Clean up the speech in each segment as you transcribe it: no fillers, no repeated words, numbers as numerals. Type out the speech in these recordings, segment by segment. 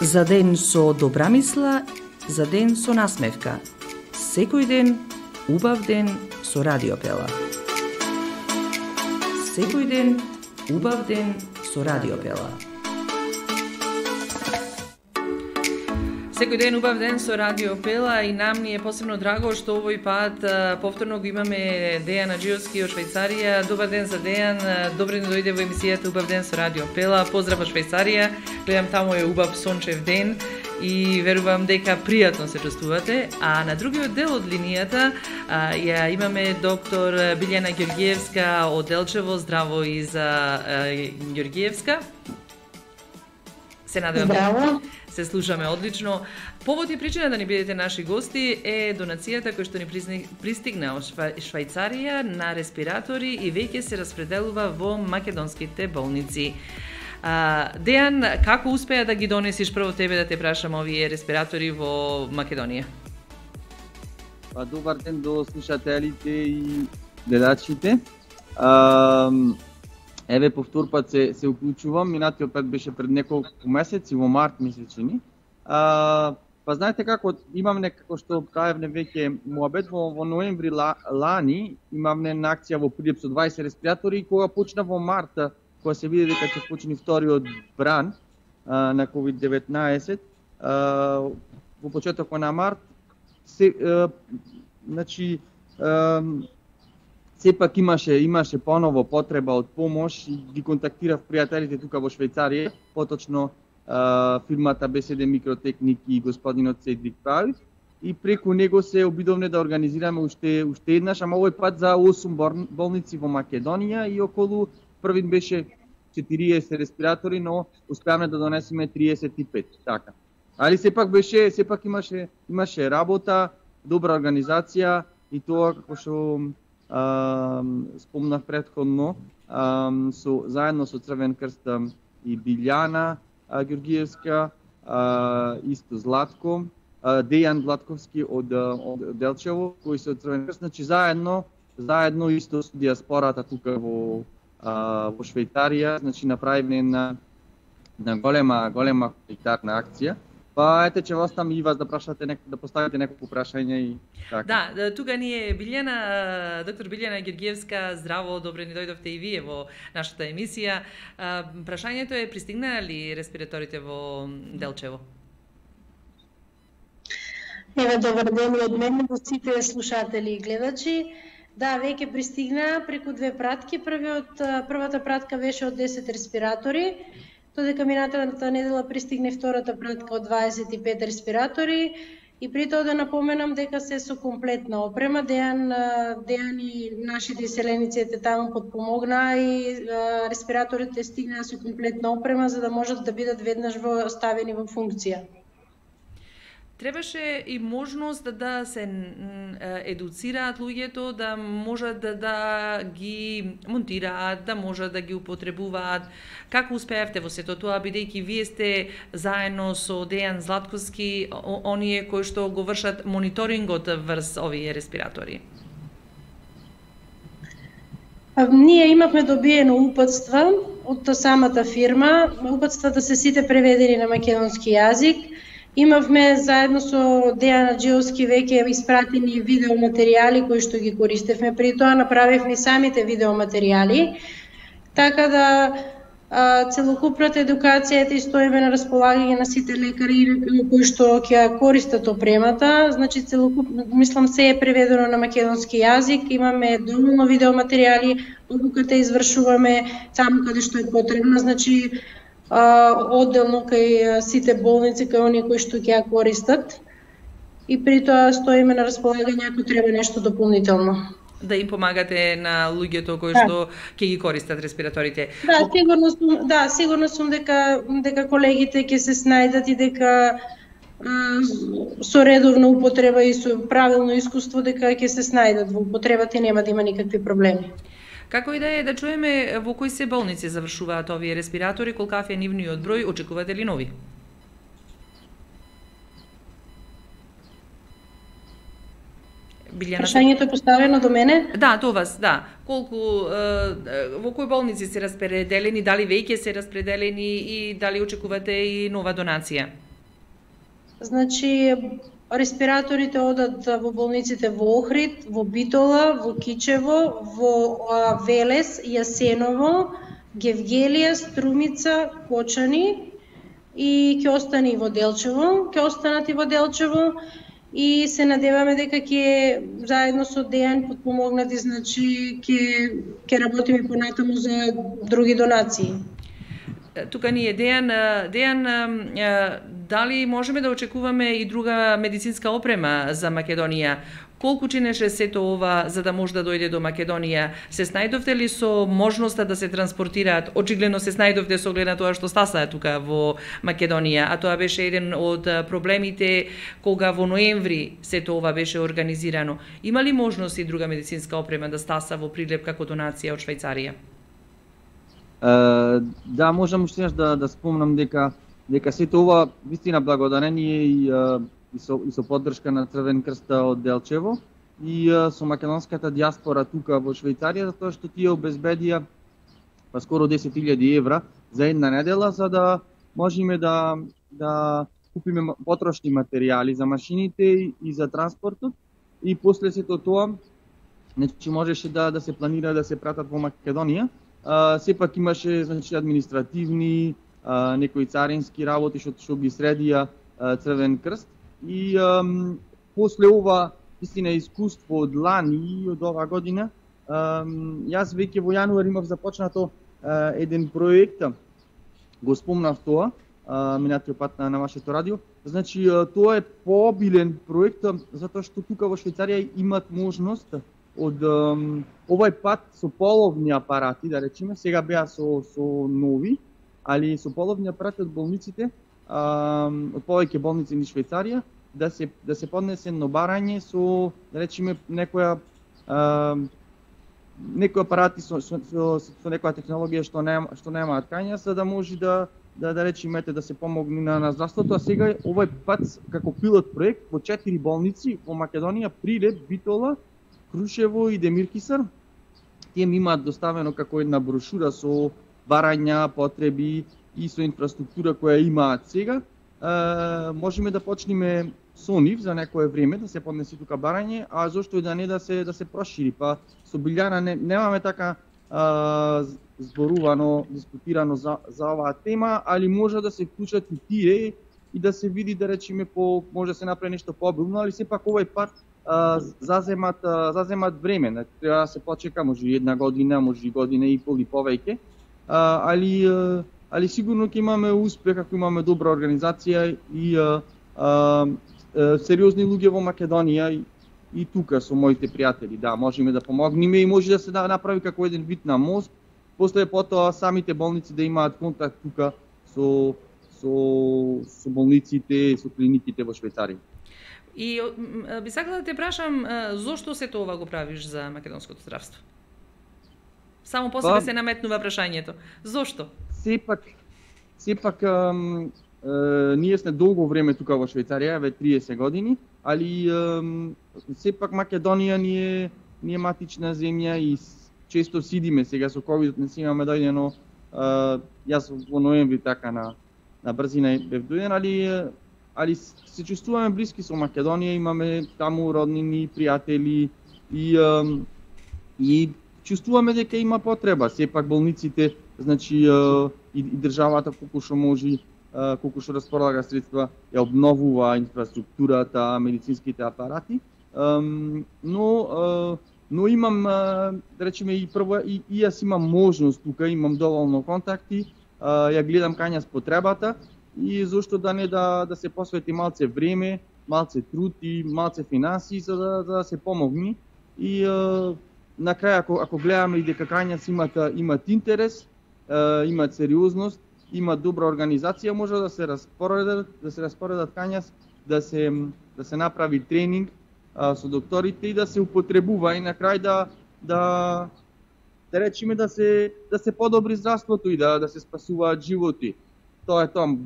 За ден со добра мисла, за ден со насмевка. Секој ден, убав ден со Радиопела. Секој ден, убав ден со Радиопела. Секој ден убав ден со Радиопела и нам ни е посебно драго што овој пат повторно го имаме Дејан Аџиевски од Швајцарија. Добар ден за Дејан, добре ни дојде во емисијата Убав ден со Радиопела. Поздрав од Швајцарија, гледам таму е убав сончев ден и верувам дека пријатно се чувствувате. А на другиот дел од линијата ја имаме доктор Билјана Ѓорѓиевска од Делчево. Здраво и за Ѓорѓиевска. Се надевам. Здраво. Се слушаме одлично. Повод и причина да ни бидете наши гости е донацијата која што ни пристигна од Швајцарија на респиратори и веќе се распределува во македонските болници. Дејан, како успеа да ги донесиш прво тебе да те прашам овие респиратори во Македонија? Добар ден до слушателите и гледачите. Еве повтор пат се уклучувам, минатиот пат беше пред неколку месеци, во март месечини. Па знаете како, имам некако што кажавме веќе муабет во ноември лани, имам на акција во Прилеп со 20 респиратори и кога почна во март, кога се види дека ќе почне вториот бран на COVID-19, во почетокот на март, значи сепак имаше поново потреба од помош и ги контактирав пријателите тука во Швајцарија, поточно фирмата БСД Микротехники и господинот Седрик Прави, и преку него се обидовме да организираме уште еднаш, ама овој пат за 8 болници во Македонија и околу првин беше 40 респиратори, но успеавме да донесеме 35, така. Али сепак имаше работа, добра организација и тоа како што спомнав претходно, заедно со Црвен крст и Билјана Ѓорѓиевска, исто Златко, Дејан Златковски од Делчево, кои се од Црвен крст, значи заедно исто со диаспората тука во Швајцарија, значи направивме на голема хуманитарна акција. Па ете че вас там и вас да прашате да поставите неколку прашања и така. Да, тука ни е Билјана, доктор Билјана Ѓорѓиевска. Здраво, добре ни дојдовте и вие во нашата емисија. Прашањето е, пристигнале респираторите во Делчево? Еве, добар ден од мене до сите слушатели и гледачи. Да, веќе пристигна преку 2 пратки. Првата пратка беше од 10 респиратори. Додека минатата недела пристигне втората пратка од 25 респиратори и при тоа да напоменам дека се со комплетна опрема. Дејан и нашите иселеници таму подпомогнаа и респираторите стигнаа со комплетна опрема за да можат да бидат веднаш ставени во функција. Требаше и можност да се едуцираат луѓето, да можат да ги монтираат, да можат да ги употребуваат. Како успеавте во сето тоа, бидејќи вие сте заедно со Дејан Златковски, оние кои што го вршат мониторингот врз овие респиратори? Ние имавме добиено упатства од самата фирма. Упатствата се сите преведени на македонски јазик. Имавме заедно со Дејан Аџиевски веќе испратени видеоматеријали кои што ги користевме. При тоа направивме самите видеоматеријали. Така да целокупната едукација и стоиме на располагање на сите лекари кои што ќе користат опремата. Значи мислам се е преведено на македонски јазик. Имаме доволно видеоматеријали, обуката извршуваме таму каде што е потребно. Значи одделно кај сите болници, кај оние кои што ќе ја користат. И при тоа стоиме на располагање ако треба нешто дополнително. Да им помагате на луѓето кои што ќе ги користат респираторите. Да, сигурно сум дека колегите ќе се снајдат и дека со редовна употреба и со правилно искуство дека ќе се снајдат во употребата и нема да има никакви проблеми. Како и да е, да чуеме во кои се болници завршуваат овие респиратори, колкав е нивниот број, очекувате ли нови? Билјана... Прашањето е поставено до мене? Да, до вас, да. Во кои болници се распределени, дали веќе се распределени и дали очекувате и нова донација? Значи, респираторите одат во болниците во Охрид, во Битола, во Кичево, во Велес, Јасеново, Гевгелија, Струмица, Кочани и ќе остане и во Делчево, ќе останат и во Делчево и се надеваме дека ќе заедно со Дејан потпомогнати, значи ќе работиме понатаму за други донации. Тука ни е Дејан, дали можеме да очекуваме и друга медицинска опрема за Македонија? Колку чинеше сето ова за да може да дојде до Македонија? Се снајдовте ли со можноста да се транспортираат? Очигледно се снајдовте со оглед на тоа што стаса тука во Македонија, а тоа беше еден од проблемите кога во ноември сето ова беше организирано. Има ли можност и друга медицинска опрема да стаса во прилеп како донација од Швајцарија? Да, можам уште да спомнам дека сето ова вистина благодарение и со поддршка на Црвен крст од Делчево и со македонската дијаспора тука во Швајцарија, затоа што тие обезбедија скоро 10.000 евра за една недела за да можеме да купиме потрошни материјали за машините и за транспортот и после сето тоа значи можеше да се планира да се пратат во Македонија. Сепак имаше значи административни, некои царински работи што ги средија Црвен крст и после ова истина искуство од лани и од оваа година јас веќе во јануар имав започнато еден проект, го спомнав тоа минатиот пат на вашето радио. Значи тоа е пообилен проект затоа што тука во Швајцарија имат можност од овај пат со половни апарати, да речеме, сега беа со нови, али со половни апарати од болниците, од повеќе болници низ Швајцарија, да се поднесе едно барање со, да речеме, некои апарати со некоја технологија што немаат кања, за да може да речеме да се помогне на здравството, а сега овај пат како пилот проект во 4 болници во Македонија, Прилеп, Битола, Крушево и Демиркисар, тие ми имаат доставено како една брошура со барања, потреби и со инфраструктура која имаат сега. Можеме да почнеме со нив за некое време да се поднесе тука барање, а зошто и да не да се прошири. Па со Билјана немаме така зборувано, дискутирано за оваа тема, али може да се вклучат и тие и да се види, да речеме, може да се направи нешто пообилно, али сепак овај пат заземат време, треба да се почека, може и една година, може и година и пол и повеќе, али сигурно ќе имаме успех ако имаме добра организација и сериозни луѓе во Македонија и тука со моите пријатели. Да, можеме да помогнеме и може да се направи како еден вид на мост, после потоа самите болници да имаат контакт тука со болниците, со клиниките во Швајцарија. И би сакала да те прашам, зошто се тоа го правиш за македонското здравство? Само по себе се наметнува прашањето. Зошто? Сепак ние сме долго време тука во Швајцарија, ве 30 години, али сепак Македонија ни е матична земја и често сидиме. Сега со ковидот не си имаме дојдено, јас во ноември така на брзина бев дојден, али се чувствуваме блиски со Македонија, имаме таму роднини, пријатели и чувствуваме дека има потреба. Сепак болниците, значи и државата колку што може, колку што располага средства, ја обновува инфраструктурата, медицинските апарати, но имам, да речеме, и прво и јас имам можност тука, имам доволно контакти, ја гледам кај нас потребата и зошто да не да се посвети малце време, малце труд и малце финанси за да се помогне и на крај ако гледаме и дека кај нас имат интерес, имат сериозност, имат добра организација, може да се распоредат кај нас, да се направи тренинг со докторите и да се употребува и на крај да речеме да се подобри здравството и да се спасуваат животи. Тоа е тоа.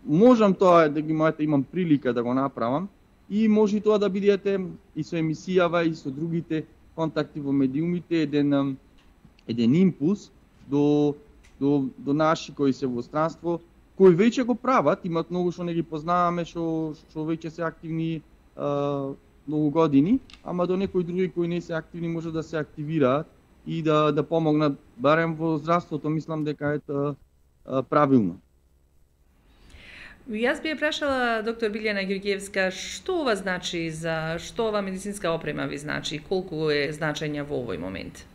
Можам тоа да ги имам прилика да го направам и може и тоа да бидете и со емисијава и со другите контакти во медиумите еден импулс до наши кои се во странство, кои веќе го прават, имат многу што не ги познаваме, што веќе се активни многу години, ама до некои други кои не се активни може да се активираат и да помогнат, барем во здравството, мислам дека е правилно. Јас би ја прашала доктор Билјана Ѓурѓиевска, што ова значи што ова медицинска опрема ви значи, колку е значања во овој момент?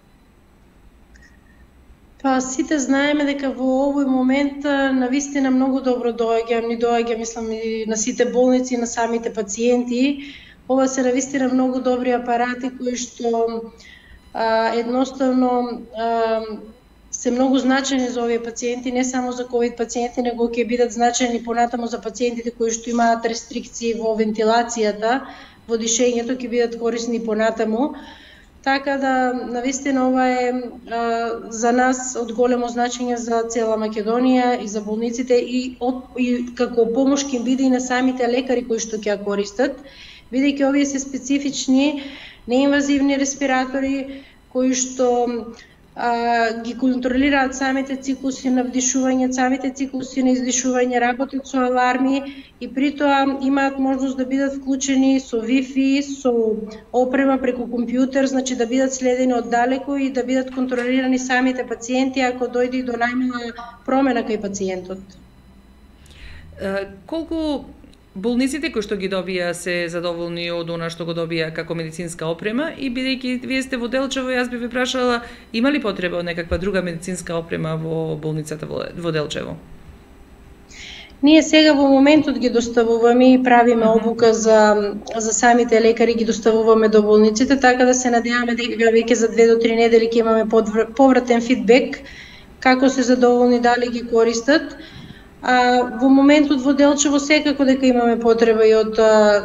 Па сите знаеме дека во овој момент навистина многу добро доаѓа, мислам и на сите болници, на самите пациенти. Ова се навистина многу добри апарати кои што едноставно се многу значени за овие пациенти, не само за ковид пациенти, него ќе бидат значени понатаму за пациентите кои што имаат рестрикции во вентилацијата, во дишењето, ќе бидат корисни понатаму. Така да, навистина, ова е за нас од големо значење за цела Македонија и за болниците и како помош ќе биде и на самите лекари кои што ќе ја користат, бидејќи овие се специфични, неинвазивни респиратори кои што ги контролираат самите циклуси на вдишување, самите циклуси на издишување, работат со аларми и при тоа имаат можност да бидат вклучени со Wi-Fi, со опрема преку компјутер, значи да бидат следени оддалеку и да бидат контролирани самите пациенти ако дојде до најмала промена кај пациентот. Колку болниците кои што ги добија се задоволни од она што го добија како медицинска опрема и бидејќи вие сте во Делчево, јас би ве прашала, има ли потреба од некаква друга медицинска опрема во болницата во Делчево? Ние сега во моментот ги доставуваме и правиме обука за самите лекари, ги доставуваме до болниците, така да се надеваме дека веќе за 2 до 3 недели ќе имаме повратен фидбек како се задоволни, дали ги користат. Во моментот во Делчево секако дека имаме потреба и од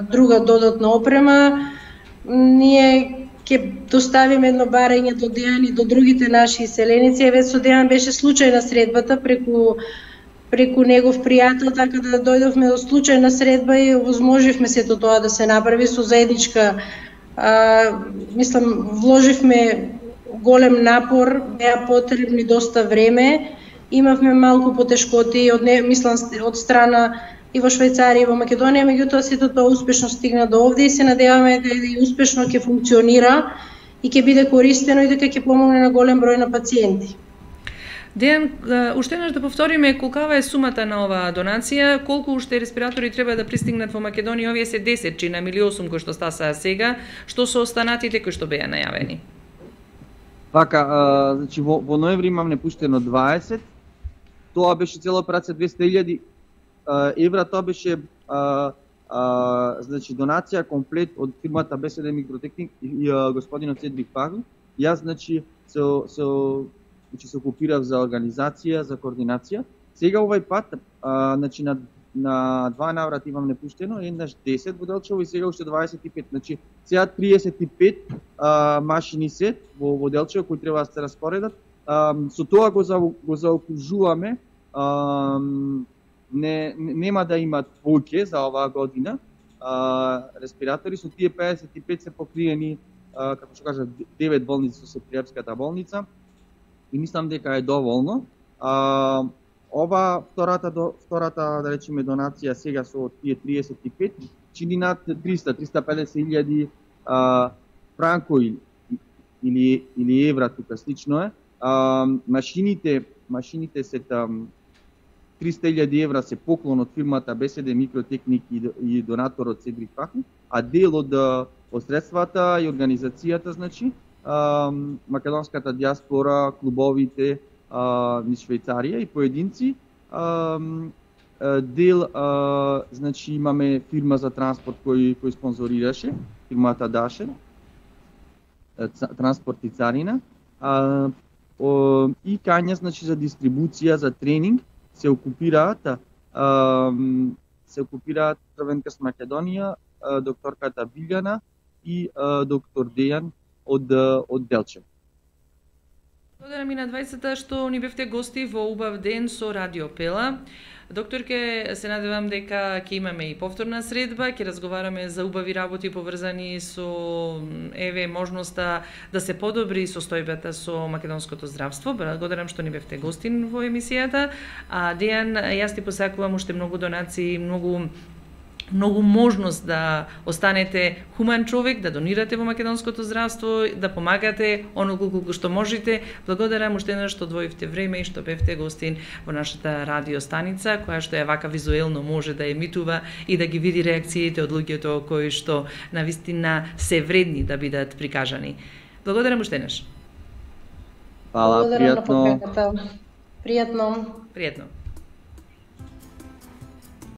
друга додатна опрема. Ние ќе доставиме едно барање до Дејан и до другите наши иселеници. Еве со Дејан беше случајна средбата преку негов пријател, така да дојдовме до случајна средба и овозможивме сето тоа да се направи со заедничка, мислам, вложивме голем напор, беа потребни доста време. Имавме малку потешкоти од страна и во Швајцарија и во Македонија, меѓутоа сето тоа успешно стигна до овде и се надеваме дека и успешно ќе функционира и ќе биде користено и дека ќе помогне на голем број на пациенти. Дејан, уште еднаш да повториме колкава е сумата на оваа донација, колку уште респиратори треба да пристигнат во Македонија, овие се 10 на 1.800 кои што стасаа сега, што со останатите кои што беа најавени? Така, значи во ноември имам непуштено 20. Тоа беше цела операција 200.000 евра, тоа беше значи донација комплет од фирмата БСД Микротехник и господинот Цедрик Пагл. Јас значи се окупирав за организација, за координација. Сега овај пат значи на 2 наврати имам непуштено, еднаш 10 во Делчево и сега уште 25. Значи сега 35 машини се во Делчево кои треба да се распоредат. Со тоа го заокружуваме, нема да имат повеќе за оваа година респиратори, со тие 55 се покриени, како што кажа, 9 болници со Сепријапската болница и мислам дека е доволно. Ова втората да речеме донација сега со тие 35 чини над 300-350.000 франко или евра, тука слично е. Машините се 300.000 евра се поклон од фирмата БСД Микротехник и донаторот Цедрик Паху, а дел од средствата и организацијата, значи, македонската диаспора, клубовите низ Швајцарија и поединци. Дел, значи, имаме фирма за транспорт кој спонзорираше, фирмата Даше, транспорт и царина. И кања, значи, за дистрибуција, за тренинг се окупираат Црвенкрст Македонија, докторката Билјана и доктор Дејан од Делчево. Благодарам и на 20-та што ни бевте гости во убав ден со Радио Пела. Докторке, се надевам дека ќе имаме и повторна средба, ќе разговараме за убави работи поврзани со можноста да се подобри состојбата со македонското здравство. Благодарам што ни бевте гостин во емисијата. А Дејан, јас ти посакувам уште многу донации, многу можност да останете хуман човек, да донирате во македонското здравство, да помагате онолку колку што можете. Благодарам уште еднаш што одвоивте време и што бевте гостин во нашата радиостаница, која што е вака визуелно може да емитува и да ги види реакциите од луѓето кои што навистина се вредни да бидат прикажани. Благодарам уште еднаш. Фала, пријатно. Пријатно. Пријатно.